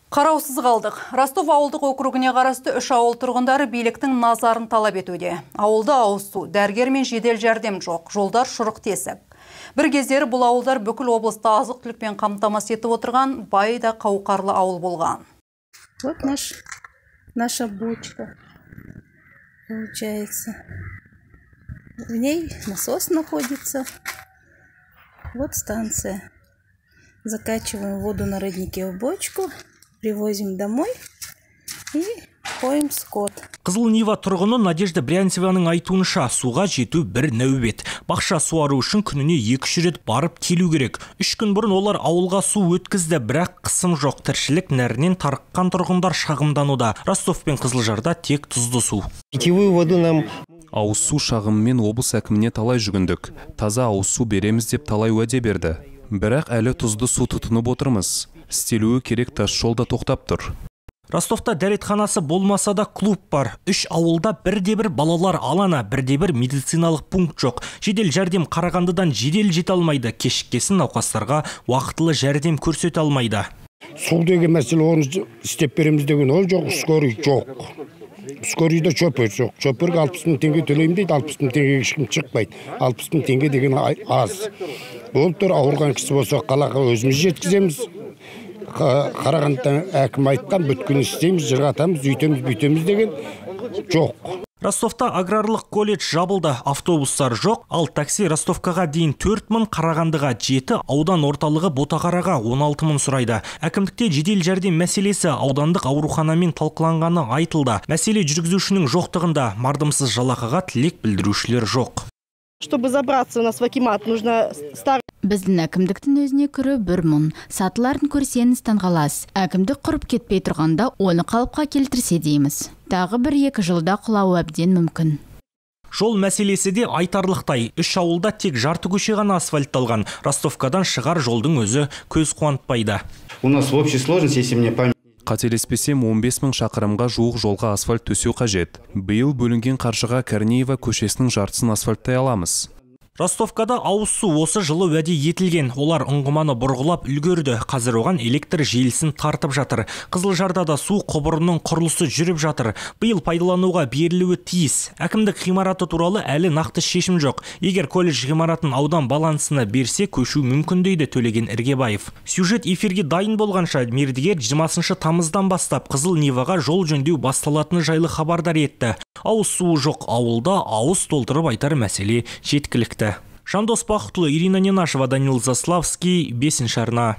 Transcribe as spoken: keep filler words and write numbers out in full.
Қараусыз қалдық. Ростов ауылдық округіне қарасты үш ауыл тұрғындары биліктің назарын талап етуде. Ауылда ауыз су, дәрігер мен жедел жәрдем жоқ, жолдар шұрық тесік. Бір кездері бұл ауылдар бүкіл облыста азық-түлікпен қамтамасыз етіп отырған бай да қауқарлы ауыл болған. Вот наш, наша бочка получается. В ней насос находится. Вот станция. Закачиваем воду на роднике в бочку, привозим домой и поем скот. Қызыл Нива тұрғыны Надежда Брянцеваның айтуынша суға жету бір нәубет. Бақша суару үшін күніне екі рет барып келу керек. Үш күн бұрын олар ауылға су өткізді, бірақ қысым жоқ. Тіршілік нәрінен тарыққан тұрғындар шағымдануда. Ростов пен Қызылжарда тек тұзды су. Питьевую воду нам ауыз су шағымымен облыс әкіміне талай жүгіндік. Таза ауыз су береміз деп талай уәде берді. Бірақ әлі тұзды су тұтынып отырмыз. Істелуі керек, тас жолда тоқтап тұр. Ростовта дәретханасы болмаса да клуб бар. Үш ауылда бірде-бір балалар алаңы, бірде-бір медициналық пункт жоқ. Жедел жәрдем Қарағандыдан жедел жете алмайды. Кешіккесін науқастарға уақытылы жәрдем көрсете алмайды. Су деген мәселе, оны істеп береміз деген ол жоқ, скорый жоқ. Скорыйда шопер жоқ. Шоперге алпыс мың теңге төлеймін дейді, алпыс мың теңгеге ешкім шықпайды. алпыс мың теңге деген аз. Ол тұр, ауырған кісі болса қалаға өзіміз жеткіземіз. Қарағандыдан әкім айтқан, бүткін істейміз, жырғатамыз, үйтеміз, бүйтеміз деген жоқ. Ростовта аграрлық колледж жабылды, автобустар жоқ, ал такси Ростовкаға дейін төрт мың, Қарағандыға жеті, аудан орталығы Ботақараға он алты мың сұрайды. Әкімдікте жедел жәрдем мәселесі аудандық ауруханамен талқыланғаны айтылды. Мәселе жүргізушінің жоқтығында, мардымсыз жалақыға тілек білдірушілер жоқ. Чтобы забраться у нас в акимат, нужно ставить. Біздің әкімдіктің өзіне күрі бір мұн. Сатыларын көрсеңіз таңғалас. Әкімдік құрып кетпей тұрғанда оны қалыпқа келтірсе дейміз. Тағы бір екі жылда құлауы әбден мүмкін. Жол мәселесі де айтарлықтай. Үш ауылда тек жарты көше ғана асфальтталған. Ростовкадан шығар жолдың өзі көз қуантпайды. У нас в общей сложности, если мне память. Қателеспесем он бес мың шақырымға жуық жолға асфальт төсеу қажет. Биыл бөлінген қаржыға Корнеева көшесінің жартысын асфальттай аламыз. Ростовкада ауыз су осы жылы уәде етілген. Олар ұңғыманы бұрғылап үлгерді. Қазір оған электр желісін тартып жатыр. Қызылжарда да су құбырының құрылысы жүріп жатыр. Биыл пайдалануға берілуі тиіс. Әкімдік ғимараты туралы әлі нақты шешім жоқ. Егер колледж ғимаратын аудан балансына берсе, көшу мүмкін дейді Төлеген Іргебаев. Сюжет эфирге дайын болғанша мердігер жиырмасыншы тамыздан бастап Қызыл Ниваға жол жөндеу басталатыны жайлы хабардар етті. Ауыз суы жоқ ауылда ауыз толтырып айтар мәселе жеткілікті. Жандос Бақытұлы, Ирина Ненашева, Данил Заславский, бесінші арна.